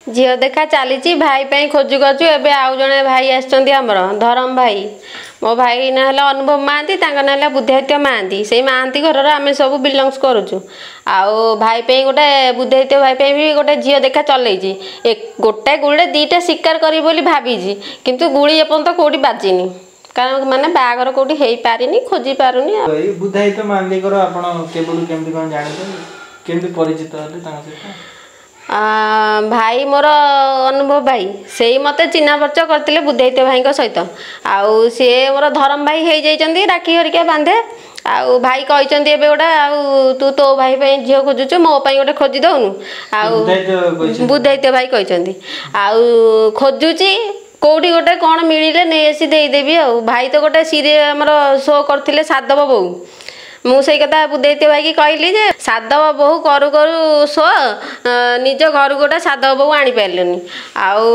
ଝିଅ ଦେଖା ଚାଲିଛି, ଭାଇ ପାଇଁ ଖୋଜୁ ଖୋଜୁ ଏବେ ଆଉ ଜଣେ ଭାଇ ଆସିଛନ୍ତି ଆମର, ଧରମ ଭାଇ। ମୋ ଭାଇ ନାଁ ହେଲା ଅନୁଭବ ମହାନ୍ତି, ତାଙ୍କ ନାଁ ହେଲା ବୁଦ୍ଧାଦିତ୍ୟ ମହାନ୍ତି। ସେଇ ମହାନ୍ତି ଘରର ଆମେ ସବୁ ବିଲଙ୍ଗସ୍ କରୁଛୁ। ଆଉ ଭାଇ ପାଇଁ ଗୋଟେ, ବୁଦ୍ଧାଦିତ୍ୟ ଭାଇ ପାଇଁ ବି ଗୋଟେ ଝିଅ ଦେଖା ଚଲେଇଛି। ଗୋଟାଏ ଗୁଳିରେ ଦୁଇଟା ଶିକାର କରିବି ବୋଲି ଭାବିଛି, କିନ୍ତୁ ଗୁଳି ଏପର୍ଯ୍ୟନ୍ତ କେଉଁଠି ବାଜିନି, କାରଣ ମାନେ ବାହାଘର କେଉଁଠି ହେଇପାରିନି, ଖୋଜି ପାରୁନି। ଆଉ ଏଇ ବୁଦ୍ଧାଦିତ୍ୟ ମହାନ୍ତିଙ୍କର ଆପଣ କେବେଠୁ କେମିତି କ'ଣ ଜାଣିଛନ୍ତି, କେମିତି ପରିଚିତ ହେଲେ ତାଙ୍କ ସହିତ? ଭାଇ ମୋର ଅନୁଭବ ଭାଇ ସେଇ ମୋତେ ଚିହ୍ନା ପରିଚୟ କରିଥିଲେ ବୁଦ୍ଧାଦିତ୍ୟ ଭାଇଙ୍କ ସହିତ। ଆଉ ସିଏ ମୋର ଧରମ ଭାଇ ହେଇଯାଇଛନ୍ତି, ରାକ୍ଷୀ ହରିକା ବାନ୍ଧେ। ଆଉ ଭାଇ କହିଛନ୍ତି ଏବେ ଗୋଟେ, ଆଉ ତୁ ତୋ ଭାଇ ପାଇଁ ଝିଅ ଖୋଜୁଛୁ, ମୋ ପାଇଁ ଗୋଟେ ଖୋଜି ଦଉନୁ। ଆଉ ବୁଦ୍ଧାଦିତ୍ୟ ଭାଇ କହିଛନ୍ତି, ଆଉ ଖୋଜୁଛି କେଉଁଠି ଗୋଟେ କ'ଣ ମିଳିଲେ ନେଇ ଆସି ଦେଇଦେବି। ଆଉ ଭାଇ ତ ଗୋଟେ ସିରିଏ ଆମର ଶୋ କରିଥିଲେ ସାଧବ ବୋହୂ। ମୁଁ ସେଇ କଥା ବୁଦ୍ଧାଦିତ୍ୟ ଭାଇକି କହିଲି ଯେ ସାଧବ ବୋହୂ କରୁ କରୁ ଶୋ ନିଜ ଘରକୁ ଗୋଟେ ସାଧବ ବୋହୂ ଆଣିପାରିଲେନି, ଆଉ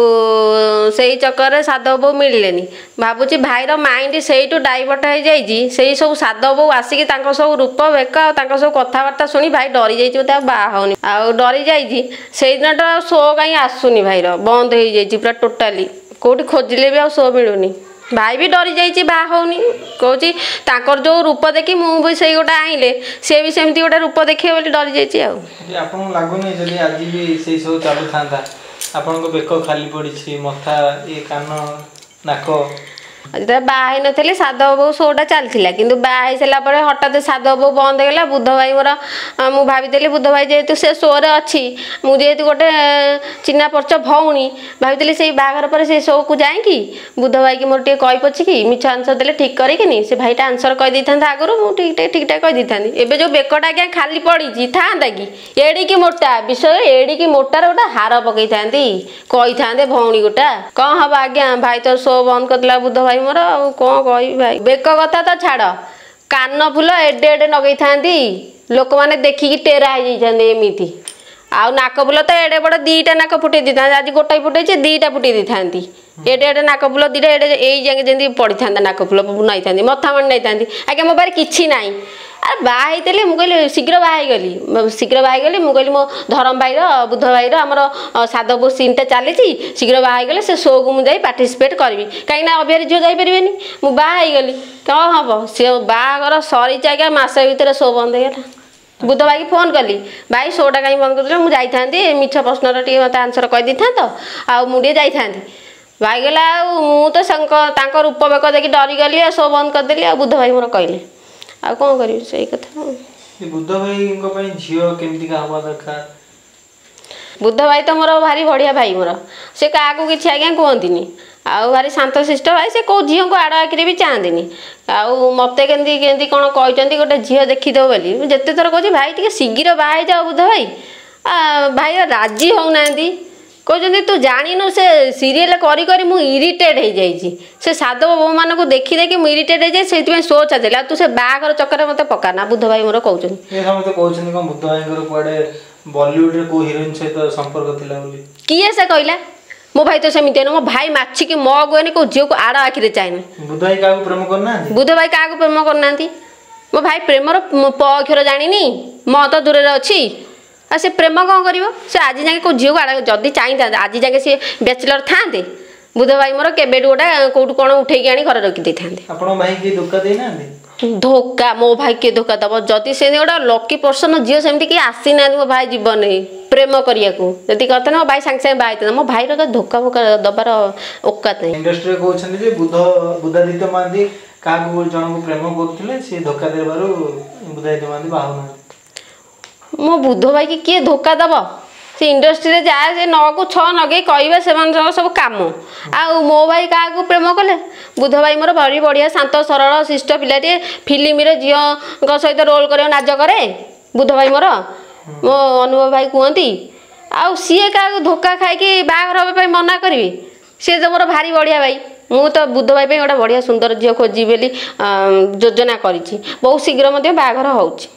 ସେଇ ଚକରରେ ସାଧବ ବୋହୂ ମିଳିଲେନି। ଭାବୁଛି ଭାଇର ମାଇଣ୍ଡ ସେଇଠୁ ଡାଇଭର୍ଟ ହେଇଯାଇଛି। ସେଇ ସବୁ ସାଧବ ବୋହୂ ଆସିକି ତାଙ୍କ ସବୁ ରୂପ ବେକ ଆଉ ତାଙ୍କ ସବୁ କଥାବାର୍ତ୍ତା ଶୁଣି ଭାଇ ଡରି ଯାଇଛି ବୋଧେ, ଆଉ ବାହା ହେଉନି, ଆଉ ଡରି ଯାଇଛି। ସେଇଦିନଟା ଆଉ ଶୋ କାହିଁ ଆସୁନି, ଭାଇର ବନ୍ଦ ହେଇଯାଇଛି ପୁରା ଟୋଟାଲି। କେଉଁଠି ଖୋଜିଲେ ବି ଆଉ ଶୋ ମିଳୁନି। ଭାଇ ବି ଡରି ଯାଇଛି, ବାହା ହେଉନି। କହୁଛି ତାଙ୍କର ଯେଉଁ ରୂପ ଦେଖି ମୁଁ ବି ସେଇ ଗୋଟେ ଆଣିଲେ ସିଏ ବି ସେମିତି ଗୋଟେ ରୂପ ଦେଖିବେ ବୋଲି ଡରି ଯାଇଛି। ଆଉ ଆପଣଙ୍କୁ ଲାଗୁନି ଯଦି ଆଜି ବି ସେଇ ସବୁ ଚାଲୁଥାନ୍ତା, ଆପଣଙ୍କ ବେକ ଖାଲି ପଡ଼ିଛି, ମଥା, ଇଏ କାନ, ନାକ? ଯେତେବେଳେ ବାହା ହେଇନଥିଲି ସାଧବ ବୋହୂ ଶୋଟା ଚାଲିଥିଲା, କିନ୍ତୁ ବାହା ହେଇସାରିଲା ପରେ ହଠାତ୍ ସାଧବ ବୋହୂ ବନ୍ଦ ହେଇଗଲା। ବୁଦ୍ଧ ଭାଇ ମୋର, ମୁଁ ଭାବିଥିଲି ବୁଦ୍ଧ ଭାଇ ଯେହେତୁ ସେ ଶୋରେ ଅଛି, ମୁଁ ଯେହେତୁ ଗୋଟେ ଚିହ୍ନା ପରିଚୟ ଭଉଣୀ, ଭାବିଥିଲି ସେଇ ବାହାଘର ପରେ ସେଇ ଶୋକୁ ଯାଇକି ବୁଦ୍ଧ ଭାଇକି ମୋର ଟିକେ କହି ପଛିକି ମିଛ ଆନ୍ସର ଦେଲେ ଠିକ୍ କରିକିନି ସେ ଭାଇଟା ଆନ୍ସର କହିଦେଇଥାନ୍ତା ଆଗରୁ, ମୁଁ ଠିକ୍ ଠିକ୍ଠାକ୍ କହିଦେଇଥାନ୍ତି। ଏବେ ଯେଉଁ ବେକଟା ଆଜ୍ଞା ଖାଲି ପଡ଼ିଛି ଥାନ୍ତା କି ଏଡ଼ିକି ମୋଟା ବିଷୟ, ଏଡ଼ିକି ମୋଟାର ଗୋଟେ ହାର ପକେଇଥାନ୍ତି, କହିଥାନ୍ତେ ଭଉଣୀ ଗୋଟା। କ'ଣ ହବ ଆଜ୍ଞା, ଭାଇ ତ ଶୋ ବନ୍ଦ କରିଦେଲା ବୁଦ୍ଧ ଭାଇ ମୋର, ଆଉ କ'ଣ କହିବି। ଭାଇ ବେକ କଥା ତ ଛାଡ଼, କାନ ଫୁଲ ଏଡ଼େ ଏଡ଼େ ଲଗେଇଥାନ୍ତି, ଲୋକମାନେ ଦେଖିକି ଟେରା ହେଇଯାଇଥାନ୍ତେ ଏମିତି। ଆଉ ନାକ ଫୁଲ ତ ଏଡ଼େ ବଡ଼ ଦୁଇଟା ନାକ ଫୁଟେଇ ଦେଇଥାନ୍ତି, ଆଜି ଗୋଟାଏ ଫୁଟେଇଛି, ଦୁଇଟା ଫୁଟେଇ ଦେଇଥାନ୍ତି। ଏଡ଼େ ଏଡ଼େ ନାକ ଫୁଲ ଦୁଇଟା ଏଡ଼େ ଏଇ ଯାକେ ଯେମିତି ପଡ଼ିଥାନ୍ତା, ନାକ ଫୁଲ ନାଇଥାନ୍ତି, ମଥା ମାଣି ନାଇଥାନ୍ତି। ଆଜ୍ଞା ମୋ ପାଖରେ କିଛି ନାହିଁ। ଆରେ ବାହା ହେଇଥିଲି, ମୁଁ କହିଲି ଶୀଘ୍ର ବାହା ହେଇଗଲି, ଶୀଘ୍ର ବାହା ହେଇଗଲି। ମୁଁ କହିଲି ମୋ ଧରମ ଭାଇର, ବୁଦ୍ଧ ଭାଇର ଆମର ସାଧବ ସିନ୍ଟା ଚାଲିଛି, ଶୀଘ୍ର ବାହା ହେଇଗଲେ ସେ ଶୋକୁ ମୁଁ ଯାଇ ପାର୍ଟିସିପେଟ୍ କରିବି, କାହିଁକିନା ଅବିହାରୀ ଝିଅ ଯାଇପାରିବେନି। ମୁଁ ବାହା ହେଇଗଲି, କ'ଣ ହବ? ସେ ବାହାଘର ସରିଛି ଆଜ୍ଞା, ମାସେ ଭିତରେ ଶୋ ବନ୍ଦ ହେଇଗଲା। ବୁଦ୍ଧ ଭାଇକି ଫୋନ୍ କଲି, ଭାଇ ଶୋଟା କାହିଁ ବନ୍ଦ କରିଦେଲେ, ମୁଁ ଯାଇଥାନ୍ତି, ମିଛ ପ୍ରଶ୍ନର ଟିକେ ମୋତେ ଆନ୍ସର କହିଦେଇଥାନ୍ତ, ଆଉ ମୁଁ ଟିକେ ଯାଇଥାନ୍ତି। ଭାଇ କହିଲା ଆଉ ମୁଁ ତ ତାଙ୍କ ରୂପ ବେକ ଦେଖି ଡରିଗଲି ଆଉ ଶୋ ବନ୍ଦ କରିଦେଲି। ଆଉ ବୁଦ୍ଧ ଭାଇ ମୋର କହିଲେ, ଆଉ କ'ଣ କରିବି, ସେଇ କଥା। ବୁଦ୍ଧ ଭାଇଙ୍କ ପାଇଁ ଝିଅ କେମିତିକା ହବା ଦରକାର? ବୁଦ୍ଧ ଭାଇ ତ ମୋର ଭାରି ବଢ଼ିଆ ଭାଇ ମୋର, ସେ କାହାକୁ କିଛି ଆଜ୍ଞା କୁହନ୍ତିନି, ଆଉ ଭାରି ଶାନ୍ତଶିଷ୍ଟ ଭାଇ। ସେ କେଉଁ ଝିଅଙ୍କୁ ଆଡ଼ ଆଖିରେ ବି ଚାହାନ୍ତିନି। ଆଉ ମୋତେ କେମିତି କେମିତି କ'ଣ କହିଛନ୍ତି ଗୋଟେ ଝିଅ ଦେଖିଦେବ ବୋଲି। ମୁଁ ଯେତେ ଥର କହୁଛି ଭାଇ ଟିକେ ଶୀଘ୍ର ବାହା ହେଇଯାଅ ବୁଦ୍ଧ ଭାଇ, ଭାଇ ରାଜି ହେଉନାହାନ୍ତି। କହୁଛନ୍ତି ତୁ ଜାଣିନୁ, ସେ ସିରିଏଲ୍ କରି କରି ମୁଁ ଇରିଟେଟ୍ ହେଇଯାଇଛି, ସେ ସାଧବ ବୋହୂମାନଙ୍କୁ ଦେଖି ଦେଖି ମୁଁ ଇରିଟେଟ୍ ହେଇଯାଇଛି, ସେଇଥିପାଇଁ ଶୋ ଛାଡ଼ିଦେଲି, ଆଉ ତୁ ସେ ବାହାଘର ଚକରେ ମୋତେ ପକାନା, ବୁଦ୍ଧ ଭାଇ ମୋର କହୁଛନ୍ତି। ସମସ୍ତେ କହୁଛନ୍ତି କ'ଣ ବୁଦ୍ଧ ଭାଇଙ୍କର କୁଆଡ଼େ ବଲିଉଡରେ କୋଉ ହିରୋଇନ୍ ସହିତ ସମ୍ପର୍କ ଥିଲା ବୋଲି? କିଏ ସେ କହିଲା? ମୋ ଭାଇ ତ ସେମିତି ନୁହଁ। ମୋ ଭାଇ ମାଛିକି ମ ଗୁଏନି, କୋଉ ଝିଅକୁ ଆଡ଼ ଆଖିରେ ଚାହେଁନି। ବୁଦ୍ଧ ଭାଇ କାହାକୁ ପ୍ରେମ କରୁନାହାନ୍ତି? ବୁଦ୍ଧ ଭାଇ କାହାକୁ ପ୍ରେମ କରୁନାହାନ୍ତି। ମୋ ଭାଇ ପ୍ରେମର ପ ଅକ୍ଷର ଜାଣିନି, ମ ତ ଦୂରରେ ଅଛି, ଆଉ ସେ ପ୍ରେମ କ'ଣ କରିବ? ସେ ଆଜି ଯାକେ କେଉଁ ଝିଅକୁ ଆଡ଼ ଯଦି ଚାହିଁଥାନ୍ତେ, ଆଜି ଯାକେ ସିଏ ବ୍ୟାଚଲର ଥାନ୍ତେ? ବୁଦ୍ଧ ଭାଇ ମୋର କେବେଠୁ ଗୋଟେ କେଉଁଠୁ କ'ଣ ଉଠେଇକି ଆଣି ଘରେ ରଖିଦେଇଥାନ୍ତେ। ଆପଣଙ୍କ ଭାଇ କିଏ ଧୋକା ଦେଇନାହାନ୍ତି? ଧୋକା ମୋ ଭାଇ କିଏ ଧୋକା ଦେବ? ଯଦି ସେମିତି ଗୋଟେ ଲକି ପର୍ସନ ଝିଅ ସେମିତି କିଏ ଆସିନାହାନ୍ତି ମୋ ଭାଇ ଜୀବନରେ ପ୍ରେମ କରିବାକୁ। ଯଦି କରିଥାନ୍ତେ ମୋ ଭାଇ ସାଙ୍ଗେ ସାଙ୍ଗେ ବାହା ହେଇଥାନ୍ତା। ମୋ ଭାଇର ତ ଧୋକା ଫୋକା ଦେବାର ଔକାତ ନାହିଁ। ଇଣ୍ଡଷ୍ଟ୍ରିରେ କହୁଛନ୍ତି ଯେ ବୁଦ୍ଧାଦିତ୍ୟ ମହାନ୍ତି କାହାକୁ ଜଣଙ୍କୁ ପ୍ରେମ କରୁଥିଲେ, ସିଏ ଧୋକା ଦେବାରୁ ବୁଦ୍ଧାଦିତ୍ୟ ମହାନ୍ତି ବାହା ହେଉନାହାନ୍ତି। ମୋ ବୁଦ୍ଧ ଭାଇକି କିଏ ଧୋକା ଦେବ? ସେ ଇଣ୍ଡଷ୍ଟ୍ରିରେ ଯାହା ସେ 9କୁ 6 ନଗେଇ କହିବେ, ସେମାନଙ୍କର ସବୁ କାମ। ଆଉ ମୋ ଭାଇ କାହାକୁ ପ୍ରେମ କଲେ? ବୁଦ୍ଧ ଭାଇ ମୋର ଭାରି ବଢ଼ିଆ ଶାନ୍ତ ସରଳ ଶିଷ୍ଟ ପିଲାଟିଏ। ଫିଲ୍ମରେ ଝିଅଙ୍କ ସହିତ ରୋଲ୍ କରିବାକୁ ନାଜ କରେ ବୁଦ୍ଧ ଭାଇ ମୋର, ମୋ ଅନୁଭବ ଭାଇ କୁହନ୍ତି। ଆଉ ସିଏ କାହାକୁ ଧୋକା ଖାଇକି ବାହାଘର ହେବା ପାଇଁ ମନା କରିବି? ସିଏ ତ ମୋର ଭାରି ବଢ଼ିଆ ଭାଇ। ମୁଁ ତ ବୁଦ୍ଧ ଭାଇ ପାଇଁ ଗୋଟେ ବଢ଼ିଆ ସୁନ୍ଦର ଝିଅ ଖୋଜିବି ବୋଲି ଯୋଜନା କରିଛି, ବହୁତ ଶୀଘ୍ର ମଧ୍ୟ ବାହାଘର ହେଉଛି।